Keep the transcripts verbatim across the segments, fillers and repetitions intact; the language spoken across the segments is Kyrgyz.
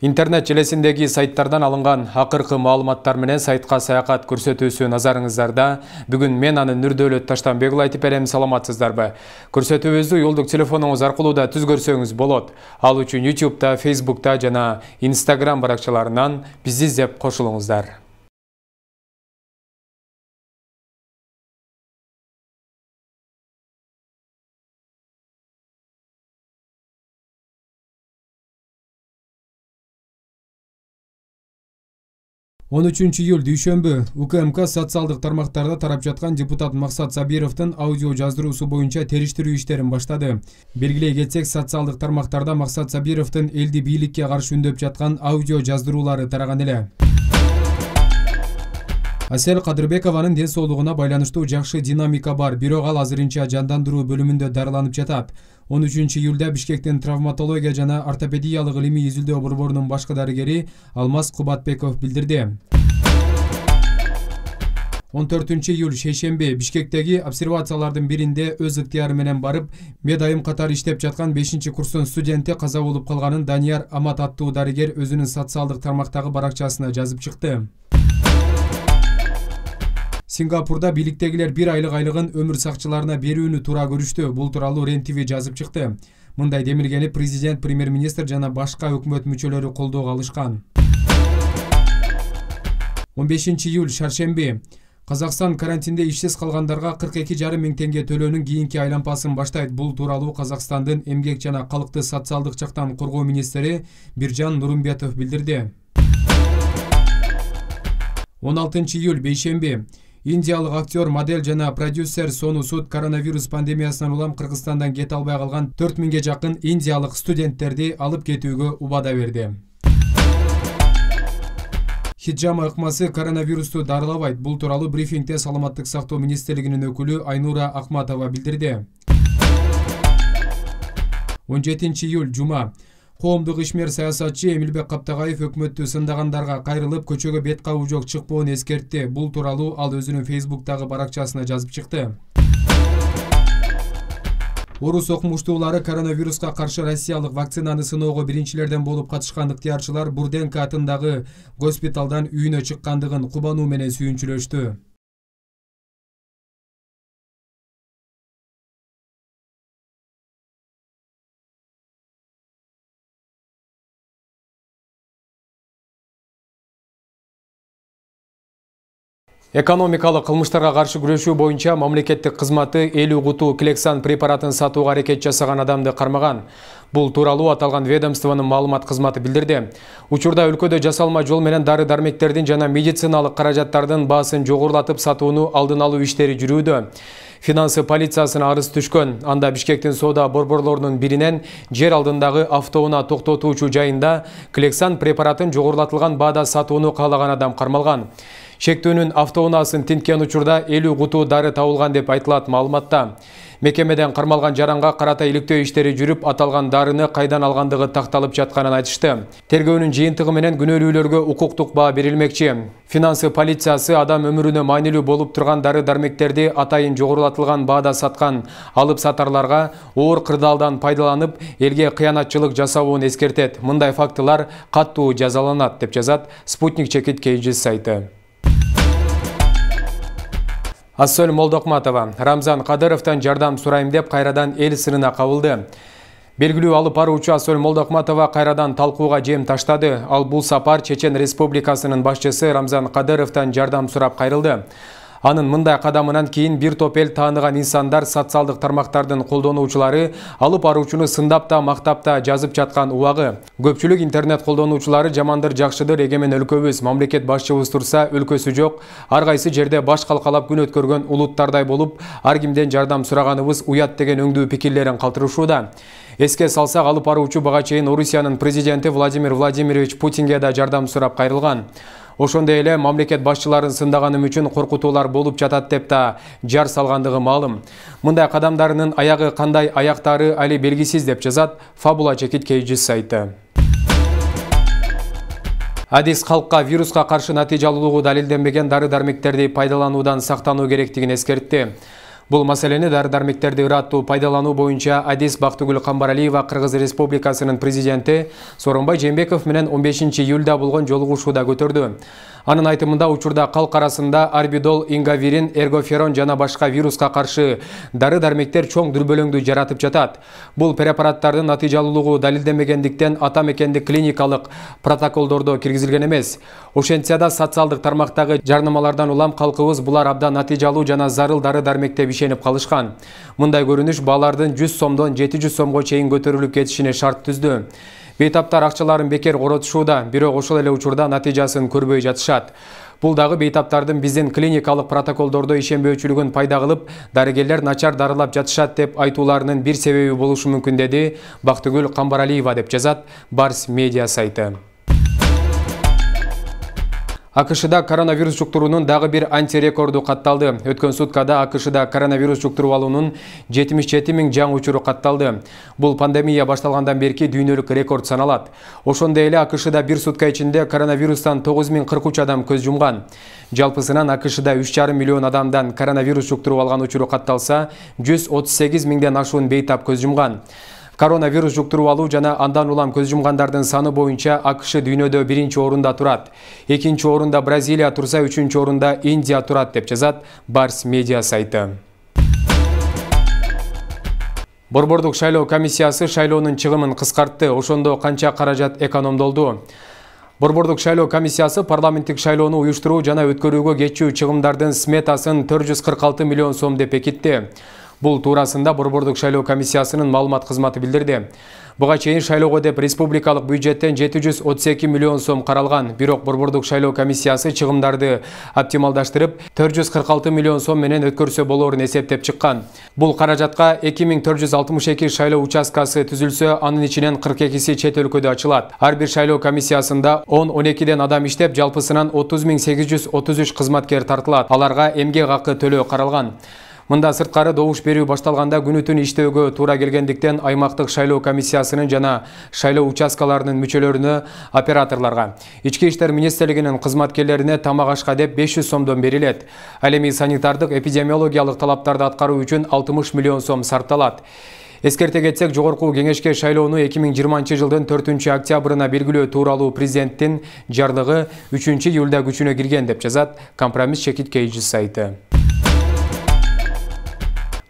Интернет желесиндеги сайттардан алынган акыркы маалыматтар менен сайтка саякат көрсөтүүсү назарыңыздарда. Бүгүн мен аны Нурдөөлөт Таштанбекұлы айтып берем, саламатсыздарбы? Көрсөтүүбүздү жолдук телефонуңуз аркылуу да түз көрсөңүз болот. Ал үчүн ютубта, фейсбукта жана инстаграм баракчаларынан бизди издеп кошулуңуздар. он үчүнчү июль дүйшөмбү УКМК социалдык тармактарда тарап жаткан депутат Максат Сабировдун аудио жаздыруусу боюнча териштирүү иштерин баштады. Белгилей кетсек, социалдык тармактарда Максат Сабировдун элди бийликке каршы үндөп жаткан аудио жаздыруулары тараган эле. Асель Кадырбекованын ден соолугуна байланыштуу жакшы динамика бар, бирок ал азырынча жандандыруу бөлүмүндө дарыланып жатат. он үчүнчү июлда Бишкектин травматология жана ортопедиялык илимий изилдөө борборунун башкы дарыгери Алмаз Кубатбеков билдирди. он төртүнчү июль шейшемби Бишкектеги обсервациялардын биринде өз ыктыяры менен барып, медайым катары иштеп жаткан бешинчи курстун студенти каза болуп калганын Данияр Амат аттуу дарыгер өзүнүн социалдык тармактагы баракчасына жазып чыкты. Сингапурда бийликтегилер бир айлык айлыгын өмүр сакчыларына берүүнү туура көрүштү. Бул тууралуу Рен ТВ жазып чыкты. Мындай демилгени президент, премьер-министр жана башка өкмөт мүчөлөрү колдоого алышкан. он бешинчи июль шаршемби Казакстан карантинде ишсиз калгандарга кырк эки жарым миң теңге төлөөнүн кийинки айланпасын баштайт. Бул тууралуу Казакстандын эмгек жана калкты социалдык жактан коргоо министри Биржан Нурумбетов билдирди. он алтынчы июль бейшемби Индиялык актер, модель жана продюсер Сону Суд коронавирус пандемиясынан улам Кыргызстандан кете албай калган төрт миңге жакын индиялык студенттерди алып кетүүгө убада берди. Хиджама ыкмасы коронавирусту дарылабайт. Бул тууралуу брифингде Саламаттык сактоо министрлигинин өкүлү Айнура Акматова билдирди. он жетинчи июль жума Коомдук ишмер саясатчы Эмилбек Каптагаев өкмөттү сындагандарга кайрылып, көчөгө бет кабуу жок чыкпоон эскертти. Бул тууралуу ал өзүнүн фейсбуктагы баракчасына жазып чыкты. Орус окумуштуулары коронавируска каршы россиялык вакцинаны сыноого биринчилерден болуп катышкан ыктыярчылар Бурденко атындагы госпиталдан үйүнө чыккандыгын кубануу менен сүйүнчүлөштү. Экономикалык кылмыштарга каршы күрөшүү боюнча мамлекеттик кызматы элүү куту Клексан препаратын сатууга аракет жасаган адамды кармаган. Бул тууралуу аталган ведомствонун маалымат кызматы билдирди. Учурда өлкөдө жасалма жол менен дары-дармектердин жана медициналык каражаттардын баасын жогорулатып сатууну алдын алуу иштери жүрүүдө. Финансы полициясына арыз түшкөн. Анда Бишкектин соода борборлорунун биринен жер алдындагы автоунаа токтотуучу жайында Клексан препаратын жогорулатылган баада сатууну каалаган адам кармалган. Шектүүнүн автоунаасын тинткен учурда элүү куту дары табылган деп айтылат маалыматта. Мекемеден кармалган жаранга карата иликтөө иштери жүрүп, аталган дарыны кайдан алгандыгы такталып жатканын айтышты. Тергөөнүн жыйынтыгы менен күнөөлүүлөргө укуктук баа берилмекчи. Финансы полициясы адам өмүрүнө маанилүү болуп турган дары-дармектерди атайын жогорулатылган баада саткан алып сатарларга оор кырдаалдан пайдаланып, элге кыянатчылык жасабуун эскертет. Мындай фактылар каттуу жазаланат деп жазат Спутник Чекит Кейджи сайты. Асель Молдокматова Рамзан Кадыровдон жардам сурайм деп кайрадан эл сырына кабылды. Белгилүү алып баруучу Асель Молдокматова кайрадан талкууга жем таштады. Ал бул сапар Чечен Республикасынын башчысы Рамзан Кадыровдон жардам сурап кайрылды. Анын мындай кадамынан кийин бир топ эл тааныган инсандар, социалдык тармактардын колдонуучулары алып баруучуну сындап да, мактап да жазып жаткан убагы. Көпчүлүк интернет колдонуучулары жамандыр, жакшыдыр, эгемен өлкөбүз, мамлекет башчыбыз турса өлкөсү жок, ар кайсы жерде баш калкалап күн өткөргөн улуттардай болуп, ар кимден жардам сураганыбыз уят деген өңдүү пикирлерин калтырышууда. Эске салсак, алып баруучу бага чейин Орусиянын президенти Владимир Владимирович Путинге да жардам сурап кайрылган. Ошондой эле мамлекет башчыларын сындаганым үчүн коркутуулар болуп жатат деп да жар салгандыгы маалым. Мындай кадамдарынын аягы кандай аяктары али белгисиз деп жазат Фабула Чекит Кейджи сайты. Адис калкка вируска каршы натыйжалуулугу далилденбеген дары-дармектерди пайдалануудан сактануу керектигин эскертти. Бул маселени дары-дармектерди ыраттуу пайдалануу боюнча Адис Бактыгүл Камбаралиева Кыргыз Республикасынын президенти Сооронбай Жээнбеков менен он бешинчи июлда болгон жолугушууда көтөрдү. Анын айтымында учурда калк арасында арбидол, ингавирин, эргоферон жана башка вируска каршы дары-дармектер чоң дүрбөлөңдү жаратып жатат. Бул препараттардын натыйжалуулугу далилденбегендиктен ата мекендик клиникалык протоколдордо киргизилген эмес. Ошентсе да социалдык тармактагы жарнамалардан улам калкыбыз булар абдан натыйжалуу жана зарыл дары-дармек деп ишенип калышкан. Мындай көрүнүш баалардын жүз сомдон жети жүз сомго чейин көтөрүлүп кетишине шарт түздү. Бейтаптар акчаларын бекер коротушууда, бирок ошол эле учурда натыйжасын көрбөй жатышат. Бул дагы бейтаптардын биздин клиникалык протоколдордо ишенбөөчүлүгүн пайда кылып, дарыгерлер начар дарылап жатышат деп айтууларынын бир себеби болушу мүмкүн деди Бактыгүл Камбаралиева деп жазат Барс медиа сайты. АКШда коронавирус жуктуруунун дагы бир антирекорду катталды. Өткөн суткада АКШда коронавирус жуктуруп алуунун жетимиш жети миң жаңы учуру катталды. Бул пандемия башталгандан берки дүйнөлүк рекорд саналат. Ошондой эле АКШда бир сутка ичинде коронавирустан тогуз миң кырк үч адам көз жумган. Жалпысынан АКШда үч жарым миллион адамдан коронавирус жуктуруп алган учуру катталса, жүз отуз сегиз миңден ашуун бейтап көз жумган. Коронавирус жуктуруп алуу жана андан улам көз жумгандардын саны боюнча АКШ дүйнөдө биринчи орунда турат. Экинчи орунда Бразилия турса, үчүнчү орунда Индия турат деп жазат Барс медиа сайты. Борбордук шайлоо комиссиясы шайлоонун чыгымын кыскартты. Ошондо канча каражат экономдолду? Борбордук шайлоо комиссиясы парламенттик шайлоону уюштуруу жана өткөрүүгө кетчү чыгымдардын сметасын төрт жүз кырк алты миллион сом деп бекитти. Бул туурасында Борбордук шайлоо комиссиясынын маалымат кызматы билдирди. Буга чейин шайлоого деп республикалык бюджеттен жети жүз отуз эки миллион сом каралган. Бирок Борбордук шайлоо комиссиясы чыгымдарды оптималдаштырып, төрт жүз кырк алты миллион сом менен өткөрсө болоорун эсептеп чыккан. Бул каражатка эки миң төрт жүз алтымыш эки шайлоо участкасы түзүлсө, анын ичинен кырк экиси чет өлкөдө ачылат. Ар бир шайлоо комиссиясында он он экиден адам иштеп, жалпысынан отуз миң сегиз жүз отуз үч кызматкер тартылат. Аларга эмгек акы төлөө каралган. Мында сырткары добуш берүү башталганда күнү-түн иштөөгө туура келгендиктен аймактык шайлоо комиссиясынын жана шайлоо участкаларынын мүчөлөрүнө, операторлорго, Ички иштер министрлигинин кызматкерлерине тамак ашка деп беш жүз сомдон берилет. Ал эми санитардык эпидемиологиялык талаптарды аткаруу үчүн алтымыш миллион сом сарпталат. Эскерте кетсек, жогорку кеңешке шайлоону эки миң жыйырманчы жылдын төртүнчү октябрына белгилөө тууралуу президенттин жарлыгы үчүнчү июлда күчүнө кирген деп жазат Компромисс чекит кейжи сайты.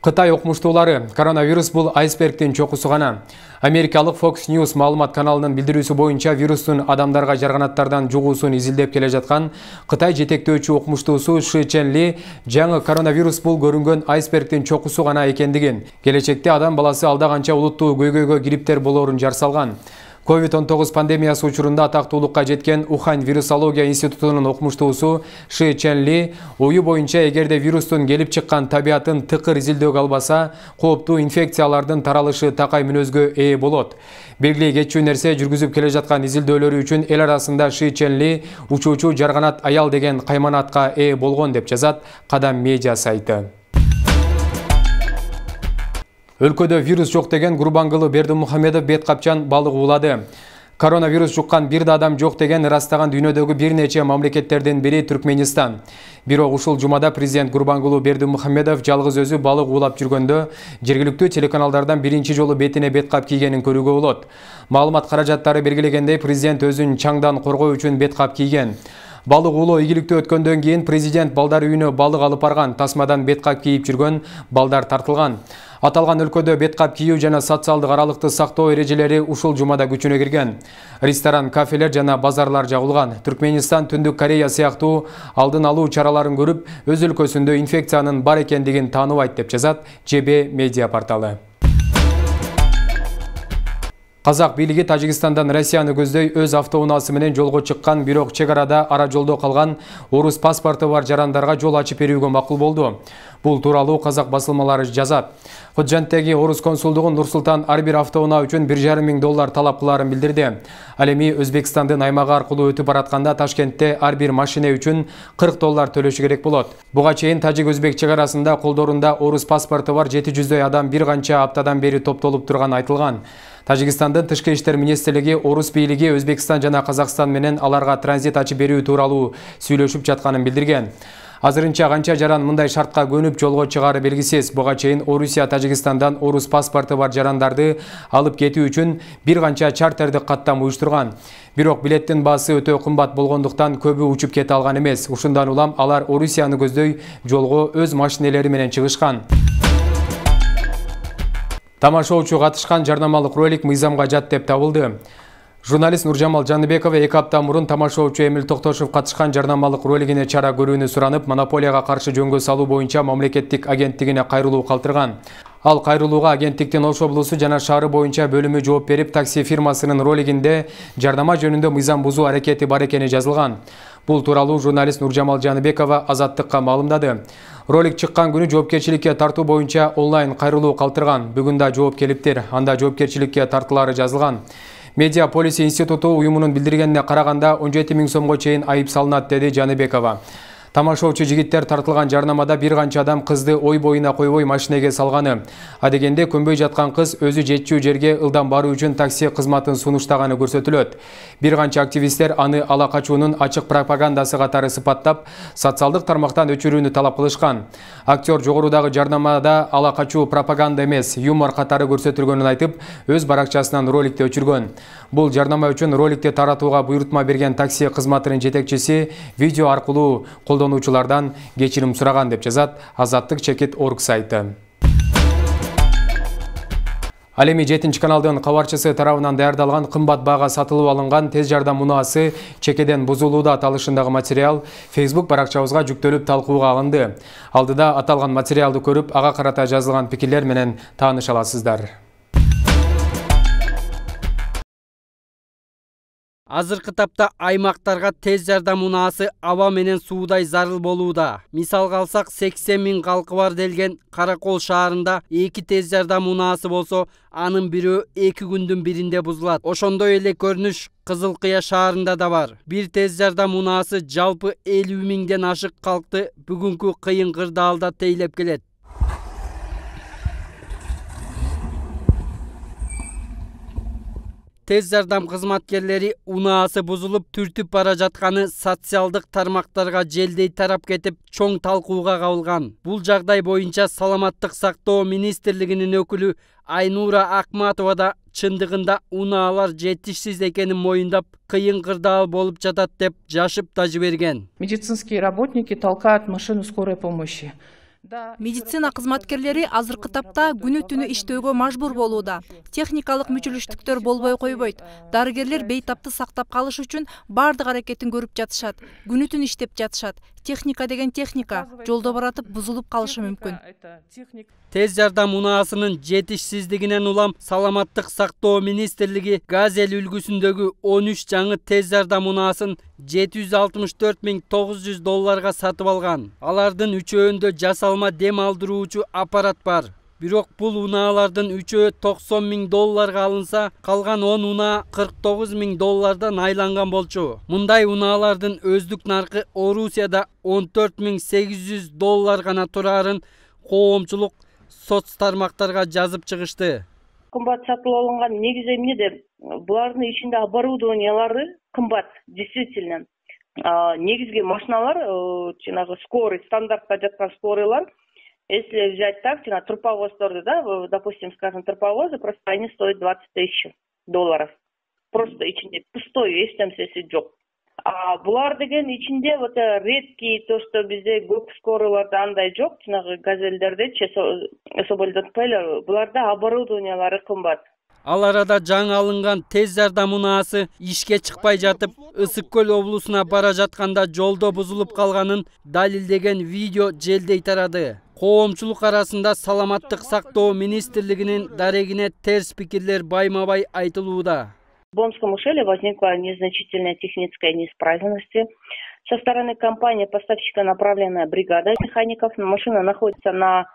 Кытай окумуштуулары: коронавирус бул айсбергдин чокусу гана. Америкалык Fox News маалымат каналынын билдирүүсү боюнча вирустун адамдарга жарганаттардан жугуусун изилдеп келе жаткан Кытай жетектөөчү окумуштуусу Ши Ченли жаңы коронавирус бул көрүнгөн айсбергдин чокусу гана экендигин, келечекте адам баласы алда канча улуттуу көйгөйгө кириптер болоорун жар салган. ковид он тогуз пандемиясы учурунда атактуулукка жеткен Ухань вирусология институтунун окумуштуусу Ши Ченли ою боюнча эгерде вирустун келип чыккан табиятын тыкыр изилдөөгө албаса, кооптуу инфекциялардын таралышы такай мүнөзгө ээ болот. Белгилей кетчү нерсе, жүргүзүп келе жаткан изилдөөлөрү үчүн эл арасында Ши Ченли учуучу жарганат аял деген кайманатка ээ болгон деп жазат Кадам медиа сайты. Өлкөдө вирус жок деген Гурбангулы Бердимухамедов бет капчан балык уулады. Коронавирус жуккан бир да адам жок деген ырастаган дүйнөдөгү бир нече мамлекеттердин бири Түркменистан. Бирок ушул жумада президент Гурбангулы Бердимухамедов жалгыз өзү балык уулап жүргөндө жергиликтүү телеканалдардан биринчи жолу бетине бет кап кийгенин көрүүгө болот. Маалымат каражаттары белгилегендей, президент өзүн чаңдан коргоо үчүн бет кап кийген. Балык уулоо ийгиликтүү өткөндөн кийин президент балдар үйүнө балык алып барган, тасмадан бет кап кийип жүргөн балдар тартылган. Аталган өлкөдө бет кап кийүү жана социалдык аралыкты сактоо эрежелери ушул жумада күчүнө кирген. Ресторан, кафелер жана базарлар жабылган. Түркменистан Түндүк Корея сыяктуу алдын алуу чараларын көрүп, өз өлкөсүндө инфекциянын бар экендигин тааныбайт деп жазат Же Бе медиа порталы. Казак бийлиги Тажикстандан Россияны көздөй өз автоунаасы менен жолго чыккан, бирок чек арада ара жолдо калган орус паспорту бар жарандарга жол ачып берүүгө макул болду. Бул тууралуу казак басылмалары жазат. Ходжанттеги орус консулдугу Нур-Султан ар бир автоунаа үчүн бир жарым миң доллар талап кылаарын билдирди. Ал эми Өзбекстандын аймагы аркылуу өтүп баратканда Ташкентте ар бир машина үчүн кырк доллар төлөшү керек болот. Буга чейин Тажик-Өзбек чек арасында колдорунда орус паспорту бар жети жүздөй адам бир канча аптадан бери топтолуп турганы айтылган. Тажикстандын тышкы иштер министрлиги орус бийлиги Өзбекстан жана Казакстан менен аларга транзит ачып берүү тууралуу сүйлөшүп жатканын билдирген. Азырынча канча жаран мындай шартка көнүп жолго чыгары белгисиз. Буга чейин Орусия Тажикстандан орус паспорту бар жарандарды алып кетүү үчүн бир канча чартердик каттам уюштурган. Бирок билеттин баасы өтө кымбат болгондуктан көбү учуп кете алган эмес. Ушундан улам алар Орусияны көздөй жолго өз машинелери менен чыгышкан. Тамашоочу катышкан жарнамалык ролик мыйзамга жат деп табылды. Журналист Нуржамал Жаныбекова эки апта мурун тамашоочу Эмил Токтошов катышкан жарнамалык ролигине чара көрүүнү суранып, монополияга каршы жөнгө салуу боюнча мамлекеттик агенттигине кайрылуу калтырган. Ал кайрылууга агенттиктин Ош облусу жана шаары боюнча бөлүмү жооп берип, такси фирмасынын ролигинде жарнама жөнүндө мыйзам бузуу аракети бар экени жазылган. Бул тууралуу журналист Нуржамал Жаныбекова Азаттыкка маалымдады. Ролик чыккан күнү жоопкерчиликке тартуу боюнча онлайн кайрылуу калтырган. Бүгүн да жооп келиптир. Анда жоопкерчиликке тартылары жазылган. Медиа полиси институту уюмунун билдиргенине караганда он жети миң сомго чейин айып салынат, деди Жаныбекова. Тамашоочу жигиттер тартылган жарнамада бир канча адам кызды ой боюна койбой машинеге салганы. Адегенде көнбөй жаткан кыз өзү жетчү жерге ылдам баруу үчүн такси кызматын сунуштаганы көрсөтүлөт. Бир канча активисттер аны ала качуунун ачык пропагандасы катары сыпаттап, социалдык тармактан өчүрүүнү талап кылышкан. Актер жогорудагы жарнамада ала качуу пропаганда эмес, юмор катары көрсөтүлгөнүн айтып, өз баракчасынан роликти өчүргөн. Бул жарнама үчүн роликти таратууга буйрутма берген такси кызматынын жетекчиси видео аркылуу колдонуучулардан кечирим сураган деп жазат Азаттык чекит точка орг сайты. Ал эми жетинчи каналдын кабарчысы тарабынан даярдалган кымбат баага сатылып алынган тез жардам мунаасы чекеден бузулууда аталышындагы материал Facebook баракчабызга жүктөлүп талкууга алынды. Алдыда аталган материалды көрүп, ага карата жазылган пикирлер менен тааныша аласыздар. Азыркы тапта аймактарга тез жардам унаасы аба менен суудай зарыл болууда. Мисалга алсак, сексен миң калкы бар делген Каракол шаарында эки тез жардам унаасы болсо, анын бирөө эки күндүн биринде бузулат. Ошондой эле көрүнүш Кызыл Кыя шаарында да бар. Бир тез жардам унаасы жалпы элүү миңден ашык калкты бүгүнкү кыйын кырдаалда тейлеп келет. Тез жардам кызматкерлери унаасы бузулуп түртүп бара жатканы социалдык тармактарга желдей тарап кетип, чоң талкууга кабылган. Бул жагдай боюнча Саламаттык сактоо министрлигинин өкүлү Айнура Акматова да чындыгында унаалар жетишсиз экенин моюндап, кыйын кырдаал болуп жатат деп жашып да жиберген. Медицинские работники толкают машину скорой помощи. Медицина кызматкерлери азыркы тапта күнү түнү иштөөгө мажбур болууда. Техникалык мүчүлүштүктөр болбой койбойт. Дарыгерлер бейтапты сактап калыш үчүн бардык аракетин көрүп жатышат. Күнү түнү иштеп жатышат. Техника деген техника, жолдо баратып бузулуп калышы мүмкүн. Тез жардам унаасынын жетишсиздигинен улам Саламаттык сактоо министрлиги Газель үлгүсүндөгү он үч жаңы тез жардам унаасын жети жүз алтымыш төрт миң тогуз жүз долларга сатып алган. Алардын үчөөндө жасалма дем алдыруучу аппарат бар. Бирок бул унаалардын үчөө токсон миң долларга алынса, калган он унаа кырк тогуз миң доллардан айланган болчу. Мындай унаалардын өздүк наркы Орусияда он төрт миң сегиз жүз доллар гана турарын коомчулук соц тармактарга жазып чыгышты. Кымбат сатылып алынган негизи эмнеде? Булардын ичинде оборудованиялары кымбат, действительно. Негизги машиналар, жанагы скорый, стандартта жаткан скорыйлар, если взять так, жана турповоздорду, да, допустим, скажем, турповозы, просто они стоят двадцать тысяч долларов. Просто ичинде пустой, эч нерсеси жок. А булар деген ичинде вот редкий, то, что бизде көп скорыйларда андай жок, жанагы газелдердечи, соболдон эле, буларда оборудованиялары кымбат. Ал арада жаңы алынган тез жардам унаасы ишке чыкпай жатып, Ысык көл облусуна бара жатканда жолдо бузулуп калганын далилдеген видео желдей тарады. Коомчулук арасында Саламаттык сактоо министрлигинин дарегине терс пикирлер байма-бай айтылууда. В Бонском ушеле возникла незначительная техническая неисправность. Со стороны компании поставщика направленная бригада механиков. Машина находится на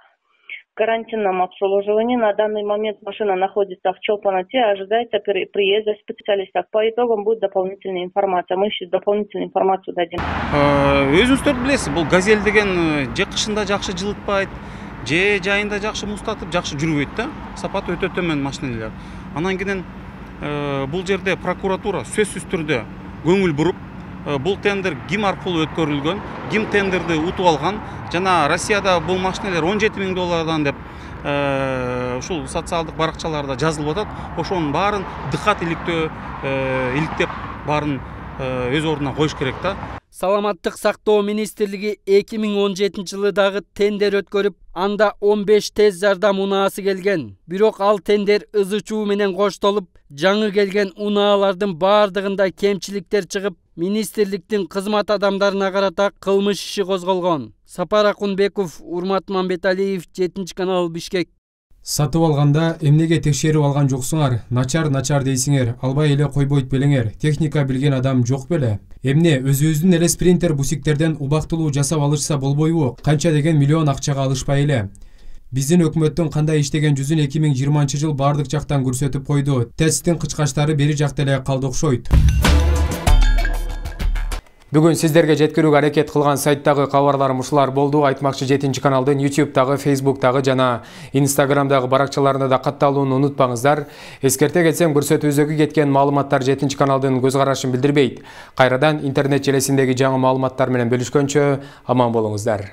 карантинном обслуживании. На данный момент машина находится в Чолпаноте, ожидается приезда специалистов. По итогам будет дополнительная информация. Мы еще дополнительную информацию дадим. Өзүңүздөр билесиз, бул газель деген же кышында жакшы жылытпайт, же жайында жакшы муздатып, жакшы жүрбөйт да. Сапаты өтө төмөн машиналар. Анан кийин бул жерде прокуратура сөзсүз түрдө көңүл буруп, бул тендер ким аркылуу өткөрүлгөн, ким тендерди утуп алган, жана Россияда бул машиналар он жети миң доллардан деп ушул социалдык баракчаларда жазылып атат. Ошонун баарын дыкат иликтөө иликтеп баарын өз ордуна коюш керек да. Саламаттык сактоо министрлиги эки миң он жетинчи жылы дагы тендер өткөрүп, анда он беш тез жардам унаасы келген. Бирок ал тендер ызы чуу менен коштолуп, жаңы келген унаалардын баардыгында кемчиликтер чыгып, министрликтин кызмат адамдарына карата кылмыш иши козголгон. Сапар Акунбеков, Урмат Мамбеталиев, жетинчи канал, Бишкек. Сатып алганда эмнеге текшерип алган жоксуңар? Начар начар дейсиңер, албай эле койбойт белеңер. Техника билген адам жок беле? Эмне өзүбүздүн эле спринтер бусиктерден убактылуу жасап алышса болбойбу? Канча деген миллион акчага алышпай эле? Биздин өкмөттүн кандай иштеген жүзүн эки миң жыйырманчы жыл бардык жактан көрсөтүп койду. Тесттин кычкачтары бери жакта эле калды окшойт. Бүгүн сиздерге жеткирүүгө аракет кылган сайттагы кабарларым ушулар болду. Айтмакчы жетинчи каналдын ютубтагы, фейсбуктагы жана инстаграмдагы баракчаларында да катталууну унутпаңыздар. Эскерте кетсем, көрсөтүүбүздөгү кеткен маалыматтар жетинчи каналдын көз карашын билдирбейт. Кайрадан интернет желесиндеги жаңы маалыматтар менен бөлүшкөнчө аман болуңуздар.